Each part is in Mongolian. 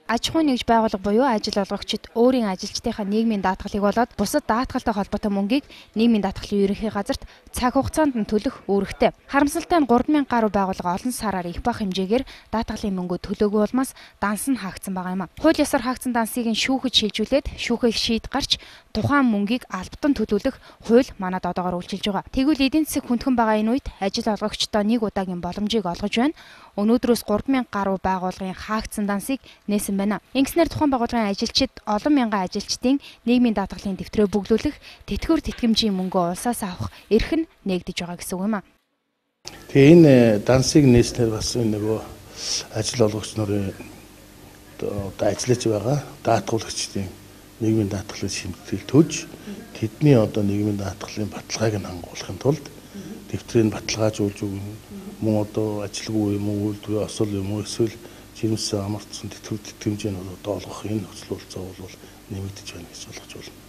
Аж ахуйн нэгж байгууллага буюу ажил олгогчид өөрийн ажилчдынхаа нийгмийн даатгалыг болоод бусад даатгалтай холбоотой мөнгийг нийгмийн даатгалын ерөнхий газарт цаг хугацаанд нь төлөх үүрэгтэй. Харамсалтай нь 3000 гаруй байгууллага олон сараар их бах хэмжээгээр даатгалын мөнгө төлөөгүй улмаас данс нь хаагдсан байгаа юм. Хууль ёсоор хаагдсан дансыг нь шүүхэд шилжүүлээд шүүхийг шийд гарч тухайн мөнгийг албатан төлөвлөх хууль манад одоогоор үйлчилж байгаа. Тэгвэл эдийн засаг хүндхэн байгаа энэ үед ажил олгогчдоо нэг удаагийн боломжийг олгож байна. Өнөөдрөөс 3000 гаруй байгууллагын хаагдсан дансыг нээсэн байна. Ингэснээр тухайн байгууллагын ажилчид олон мянган ажилчдын нийгмийн даатгалын дэвтрээ бүглүүлэх, тэтгэвэр тэтгэмжийн мөнгө улсаас авах эрх нь нээгдэж байгаа гэсэн үг юм а. Тэгээ энэ дансыг нээснээр бас нөгөө ажил олгогч нарын одоо ажиллаж байгаа даатгуулагчдын нийгмийн даатгалын шимтгэл төж тэдний одоо нийгмийн даатгалын баталгааг нь хангуулахын тулд дэвтрийг баталгаажуулж өгнө. Мөн одоо ажилгүй юм уу, үйлдвэрийн осол юм уу, эсвэл жирэмсэн амарцсан тэтгэвэр тэтгэмжийг нь одоо олгох энэ нөхцөл болцоо бол нэмэгдэж байна гэж болгож байна.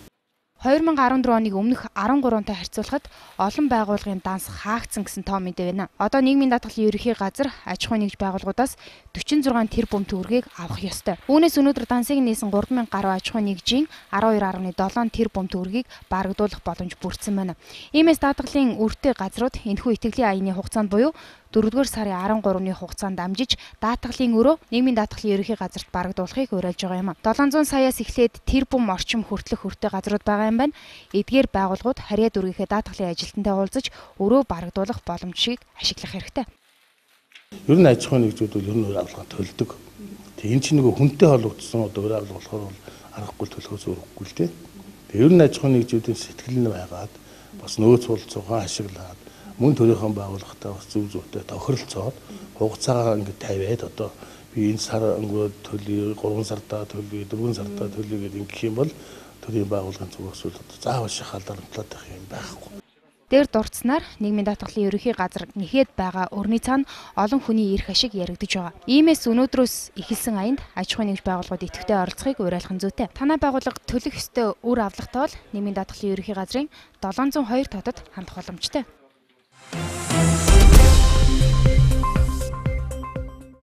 2014 оныг өмнөх 13-тай харьцуулахад олон байгууллагын данс хаагдсан гэсэн тоо мэдээ байна. Одоо нийгмийн даатгалын ерөнхий газар аж ахуйн нэгж байгууллагуудаас 46 тэрбум төгрөгийг авах ёстой. Үүнээс өнөөдөр дансыг нээсэн 3000 гаруй аж ахуйн нэгжийн 12.7 тэрбум төгрөгийг барагдуулах боломж бүрдсэн байна. Иймээс даатгалын өртөө газрууд энэхүү итгэлийн аяны хугацаанд буюу 4-р сарын 13-ны хугацаанд дамжиж даатгалын өрөө нийгмийн даатгалын ерөнхий газарт барагдуулахыг уриалж байгаа юм. 700 саяас эхлээд тэрбум орчим хүртэлх өртөө газрууд байгаа юм байна. Эдгээр байгууллагууд харьяа дүргийнхээ даатгалын ажилтнтай уулзаж өрөө барагдуулах боломжийг ашиглах хэрэгтэй. Ер нь аж ахуйн нэгжүүд бол ер нь өөр авлагаа төлдөг. Тэгээ энэ чинь нөгөө хүнтэй холбогдсон одоо өөр авлага болохоор бол аргагүй төлөхөөс өрөхгүй л дээ. Тэгээ ер нь аж ахуйн нэгжүүдийн сэтгэл нь байгаад бас нөөц болцоогоо ашиглаад мөн төрийнхөө байгууллагатай бас зөв зөвтэй тохиролцоод хугацаагаа ингэ тавиад одоо би энэ сар өнгөө төлөе 3 сартаа төлөе 4 сартаа төлөе гэдэг ингэх юм бол төрийн байгууллагын зүгээс бол заавал шахалдар амтлаад байх юм байхгүй. Дээр дурдсанаар нийгмийн даатгалын ерөнхий газар нэхэд байгаа өрний цаана олон хүний эрх ашиг яригдж байгаа. Иймээс өнөөдрөөс эхэлсэн аянд аж ахуйн нэгж байгууллагууд идэвхтэй оролцохыг уриалах нь зүйтэй. Танай байгууллага төлөх ёстой үр авлагатай бол нийгмийн даатгалын ерөнхий газрын 702 хотод хандах боломжтой.